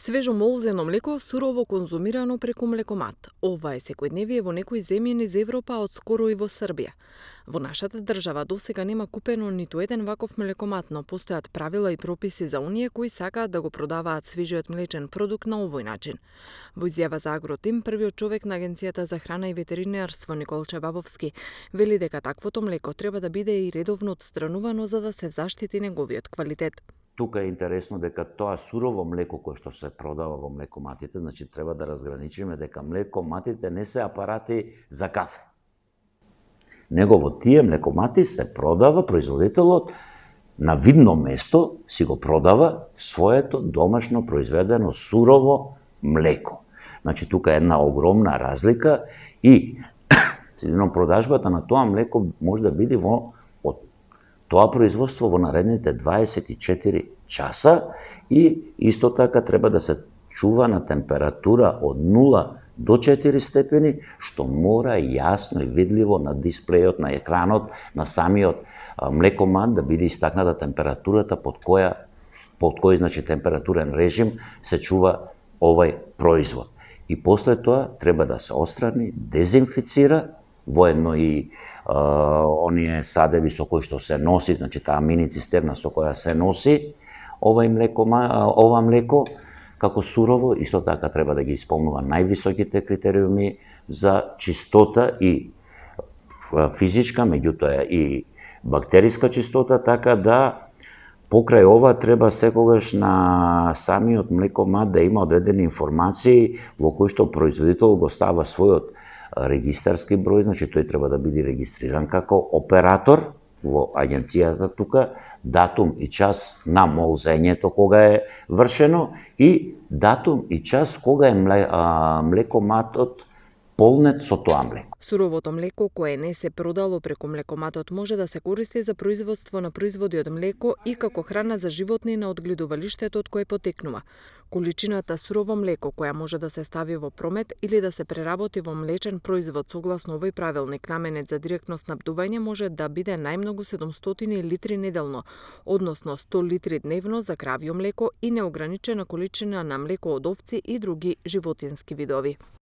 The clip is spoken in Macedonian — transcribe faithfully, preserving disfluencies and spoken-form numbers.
Свежо молзено млеко, сурово конзумирано преку млекомат. Ова е секојдневие во некои земји низ Европа, од скоро и во Србија. Во нашата држава досега нема купено ниту еден ваков млекомат, но постојат правила и прописи за оние кои сакаат да го продаваат свежиот млечен продукт на овој начин. Во изјава за Агротим, првиот човек на Агенцијата за храна и ветеринарство Николче Бабовски вели дека таквото млеко треба да биде и редовно отстранувано за да се заштити неговиот квалитет. Тука е интересно дека тоа сурово млеко кое што се продава во млекоматите, значи треба да разграничиме дека млекоматите не се апарати за кафе. Него во тие млекомати се продава, производителот на видно место си го продава своето домашно произведено сурово млеко. Значи тука е една огромна разлика и целино продажбата на тоа млеко може да биде во тоа производство во наредните дваесет и четири часа и исто така треба да се чува на температура од нула до четири степени, што мора јасно и видливо на дисплејот, на екранот, на самиот млекомат да биде истакната температурата под која под кој значи температурен режим се чува овај производ. И после тоа треба да се отстрани, дезинфицира, воедно и а, оние садеви со кои што се носи, значи таа мини цистерна со која се носи овај млеко, ова млеко како сурово, исто така треба да ги исполнува највисоките критериуми за чистота и физичка, меѓутоа и бактериска чистота, така да покрај ова треба секогаш на самиот млекомат да има одредени информации во кои што производител го става својот регистарски број, значи тој треба да биде регистриран како оператор во агенцијата тука, датум и час на молзењето кога е вршено и датум и час кога е млекоматот полнет со тоа млеко. Суровото млеко кое не се продало преку млекоматот може да се користи за производство на производи од млеко и како храна за животни на одгледувалиштето од кое потекнува. Количината сурово млеко која може да се стави во промет или да се преработи во млечен производ согласно овој правилник наменет за директно снабдување може да биде најмногу седумстотини литри неделно, односно сто литри дневно за кравјо млеко и неограничена количина на млеко од овци и други животински видови.